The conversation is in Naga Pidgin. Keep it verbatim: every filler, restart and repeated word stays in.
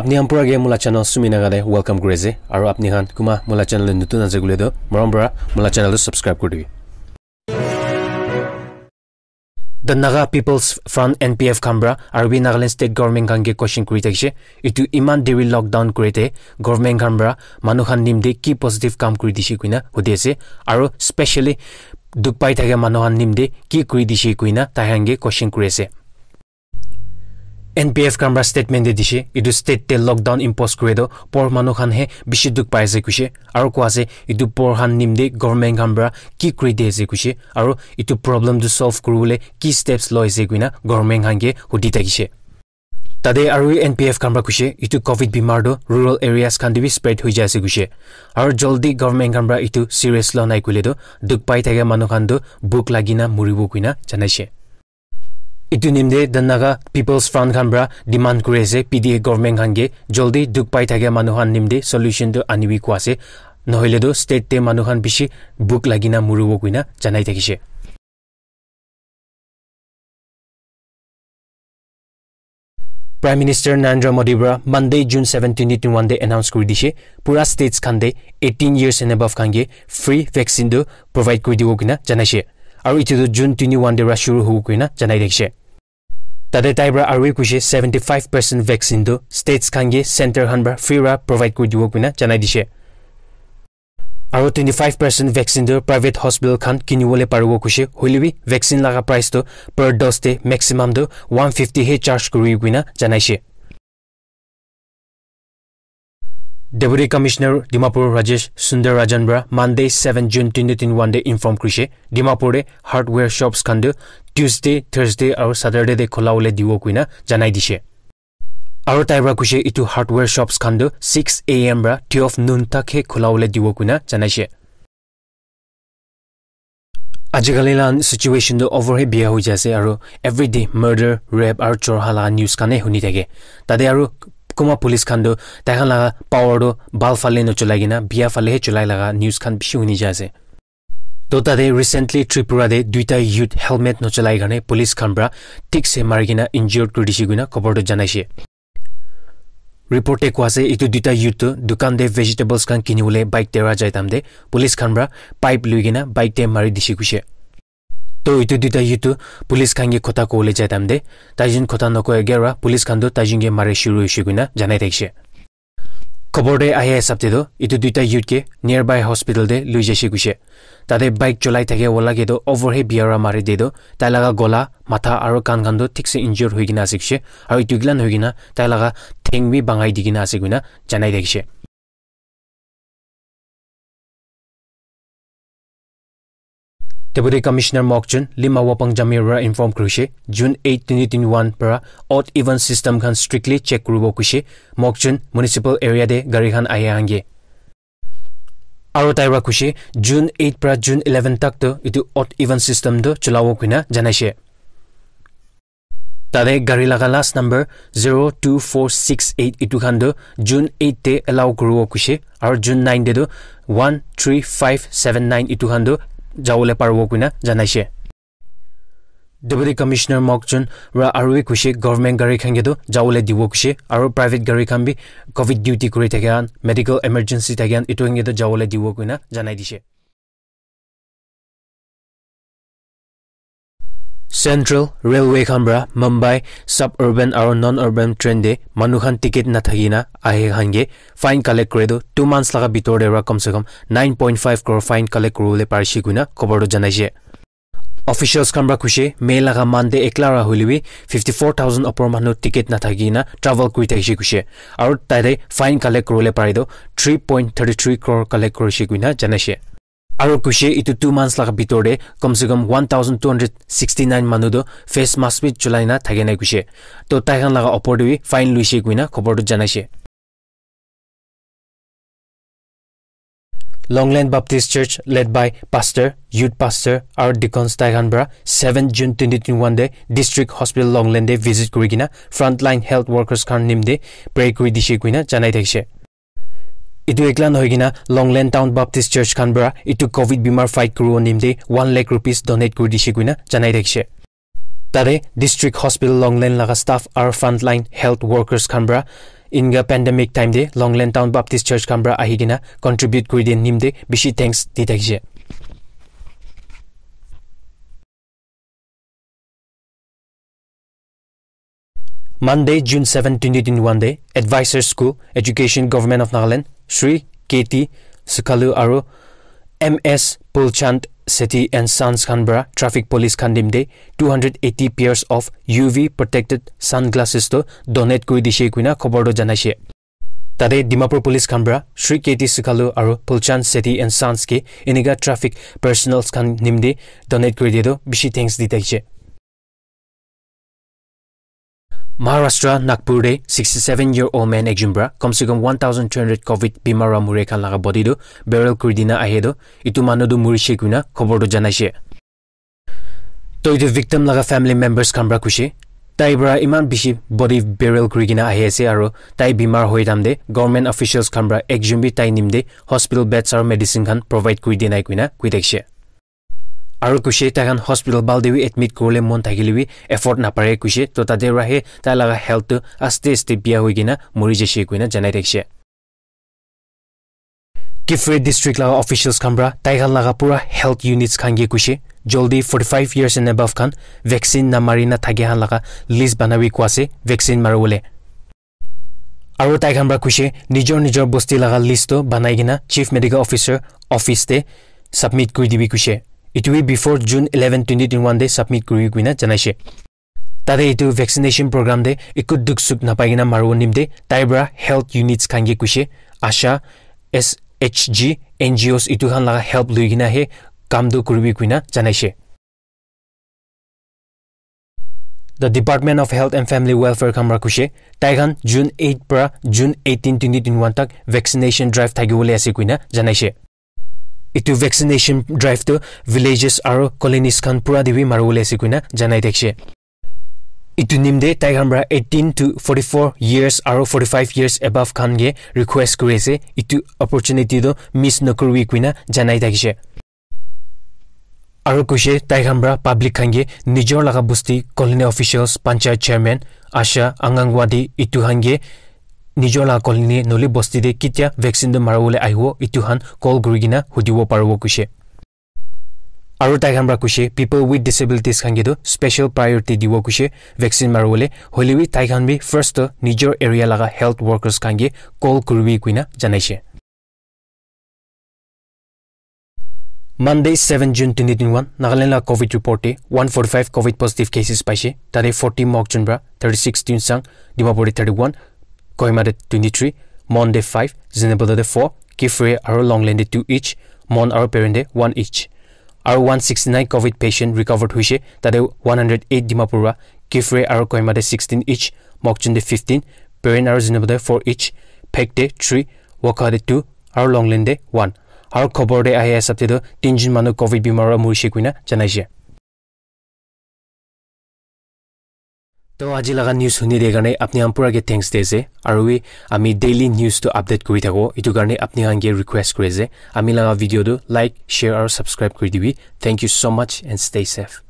Apni khan pura ke mula channel Sumi Naga te welcome kuri ase. Aru apni khan kuma mula channel te nutun ase koile toh, morom para mula channel tu subscribe kuri dibi. The Naga People's Front, N P F, khan para aru bi Nagaland State Government khan ke question kuri thakishe. Itu iman deri lockdown kuri te government khan para manu khan nim te ki positive kam kuri dishe koina hudi ase. Aru specially dukh pai thaka manu khan nim te ki kuri dishe koina tai khan ke question kuri ase. N P F khan para statement te dishe, itu state te lockdown impose kure toh poor manu khan he bishi dukh pai ase kuishe, aru koi ase itu poor khan nim te government khan para ki kuri di ase kuishe, aru itu problem tu solve kuribole ki steps loi ase koina government khan ke hudi thakishe. Tate aru N P F khan para kuishe itu covid bimar tu rural areas khan te bi spread hoi jai ase kuishe, aru jaldi government khan para itu serious lua nai koile tu dukh pai thaka manu khan tu bhuk lagi na muribo koina janaishe. Itu nimte the Naga People's Front khan para demand kuri ase P D A government khan ke jaldi dukh pai thaka manu khan nimte solution tu anibi koi ase, nohoile tu state te manu khan bishi bhuk lagi na muribo koina janai thakishe. Prime Minister Narendra Modi para Monday, June seven, twenty twenty-one te announce kuri dishe, pura states khan te eighteen years and above khan ke free vaccine tu provide kuri dibo koina janaishe. Aru itu tu June twenty-one te para shuru hobo koina janai thakishe. Tate tai para aru kuishe seventy-five percent vaccine tu states khan ke center khan para free para provide kuri dibo koina janai dishe. Aru twenty-five percent vaccine tu private hospital khan kinibole paribo kuishe, hoile bi vaccine laga price tu per dose te maximum tu one fifty he charge kuri koina janaishe. Deputy Commissioner Dimapur Rajesh Sundar Rajan para Monday, seven June twenty twenty-one te inform kurishe, Dimapur te hardware shops khan tu Tuesday, Thursday aru Saturday te khola bole dibo koina janai dishe. Aru tai para kuishe itu hardware shops khan tu six A M para twelve noon tak he khola bole dibo koina janaishe. Ajikali la situation tu over he biya hoi jai ase aru everyday murder, rape aru chor ha laga news khan he huni thake. Tate aru kuma police khan tu tai khan laga power tu bhal phale no cholai kena biya phale he cholai laga news khan bishi huni jai ase. To tate recently Tripura te duita youth helmet no cholai karne police khan para thik se mari kena injured kuri dishe koina khobor tu janaishe. Report te koi ase itu duita youth tu dukan te vegetables khan kinibole bike te para jai time te police khan para pipe loi kena bike te mari dishe kuishe. To itu duita youth tu police khan ke kotha kobole jai time te taijun kotha nokoa ke para police khan tu taijun ke mari shuru hoishe koina janai thakishe. Khobor te ahi hisab te tu itu duita youth ke nearby hospital te loi jaishe kuishe. Tate bike cholai thake wala ke tu over he biya para mari de tu tai laga gola, matha aru kan khan tu thik se injured hoi kena ase kuishe, aru itu kilan hoi kena tai laga theng bi bangai di kena ase koina janai thakishe. Deputy Commissioner Mokchun Lima Wapang Jamir para inform kurishe, June eight, twenty twenty-one para odd even system khan strictly check kuribo kuishe, Mokchun municipal area te gari khan ahi ahange. Aru tai para kuishe, June eight para June eleven tak tu itu odd even system tu cholabo koina janaishe. Tate gari laga last number zero two four six eight itu khan tu June eight te allow kuribo kuishe, aru June nine te tu one three five seven nine itu khan tu jabole paribo koina janaishe. Deputy Commissioner Mokchun para aru bi kuishe government gari khan ke tu jabole dibo kuishe, aru private gari khan bi covid duty kuri thaka khan, medical emergency thaka khan, itu khan ke tu jabole dibo koina janai dishe. Central Railway khan para Mumbai suburban aru non-urban train te manu khan ticket nathaki na ahe khan ke fine collect kure tu two months laga bitor te para kam se kam nine point five crore fine collect kuribole parishe koina khobor tu janaishe. Officials khan para kuishe May laga month te ekla ra hoile bi fifty four thousand opor manu ticket nathaki na travel kuri thakishe kuishe, aru tate fine collect kuribole pare tu three point thirty three crore collect kurishe koina janaishe. Aru kuishe itu two months laga bitor te kam se kam one thousand two hundred sixty nine manu tu face mask bi cholai na thake nai kuishe. To tai khan laga opor te bi fine luishe koina khobor tu janaishe. Longland Baptist Church led by pastor, youth pastor aru deacons tai khan para seven June twenty twenty-one te District Hospital Longland te visit kuri kena frontline health workers khan nimte pray kuri dishe koina janai thakishe. Itu ekla nohoi kena Longland Town Baptist Church khan para itu covid bimar fight kuribo nimte one lakh rupees donate kuri dishe koina janai thakishe. Tate District Hospital Longland laga staff aru frontline health workers khan para inga pandemic time te Longland Town Baptist Church khan para ahi kena contribute kuri dia nimte bishi thanks di thakishe. Monday, June seven, twenty twenty-one te Advisor School Education Government of Nagaland, Shri K T Sukhalu aru M S Pulchand Sethi and Sons khan para traffic police khan nimte two hundred eighty pairs of U V protected sunglasses to donate kuri dishe kuina khobor to janaishe. Tate Dimapur Police khan para Shri K T Sukhalu aru Pulchand Sethi and Sons ke enika traffic personnels khan nimte donate kuri dia to bishi thanks di thakishe. Maharashtra, Nagpur te sixty-seven year old man ekjon para kom se kom one thousand three hundred covid bimar wa mure khan laga body tu burial kuri dina ahe tu itu manu tu murishe kuina khobor tu janaishe. To itu victim laga family members khan para kuishe, tai para iman bishi body burial kuri kena ahi ase aru tai bimar hoi time te government officials khan para ekjon bi tai nimte hospital beds aru medicine khan provide kuri dinai kuina kui thakishe. Aru kuishe tai khan hospital bhal te bi admit kuribole mon thakile bi afford napare kuishe, to tate para he tai laga health tu aste aste biya hoi kena muri jaishe kuina janai thakishe. Kiphire district laga officials khan para tai khan laga pura health units khan ke kuishe, jaldi forty-five years and above khan vaccine namari na thake khan laga list banabi koi ase vaccine maribole. Aru tai khan para kuishe nijor nijor bosti laga list to banai kena Chief Medical Officer office te submit kuri dibi kuishe. Itu bi before June eleven, twenty twenty-one te submit kuri kuina janaishe. Tate itu vaccination program te eku duk suk napai kena maribo nimte tai para health units khan ke kuishe ASHA, S H G, N G Os itu khan laga help lui kena he kam tu kuribi kuina janaishe. The Department of Health and Family Welfare khan para kuishe tai khan June eight para June eighteen, twenty twenty-one tak vaccination drive thakibole ase kuina janaishe. Itu vaccination drive tu villages aru colonies khan pura te bi maribole ase kuina janai thakishe. Itu nimte tai khan para eighteen to forty-four years aru forty-five years above khan ke request kuri ase itu opportunity tu miss nakuribi kuina janai thakishe. Aru kuishe tai khan para public khan ke nijor laga bosti colony officials, panchayat chairman, ASHA, Anganwadi itu khan ke nijor laga colony noli bosti te ketia vaccine tu maribole ahibo itu khan call kuri kena hudibo paribo kuishe. Aru tai khan para kuishe people with disabilities khan ke tu special priority dibo kuishe vaccine maribole, hoile bi tai khan bi first to nijor area laga health workers khan ke call kuribi kuina janaishe. Monday, seven June twenty twenty-one, Nagaland la covid report te one forty-five covid positive cases paishe. Tate forty Mokokchung para, thirty-six Tuensang, Dimapur te thirty-one, Kohima te twenty-three, Mon te five, Zunheboto te four, Kiphire aru Longleng te two each, Mon aru Peren te one each. Aru one sixty-nine covid patient recovered hoishe, tate one hundred eight Dimapur para, Kiphire aru Kohima te sixteen each, Mokokchung te fifteen, Peren aru Zunheboto te four each, Phek te three, Wokha te two, aru Longleng te one. Aru khobor te ahi hisab te toh tinjun manu covid bimar para murishe koina janaishe. To aji laga news huni de karne apni khan pura ke thanks de ase. Aru wi ami daily news to update kuri thako. Itu karne apni khan ke request kuri ase. Ami laga video tu like, share aru subscribe kuri dibi. Thank you so much and stay safe.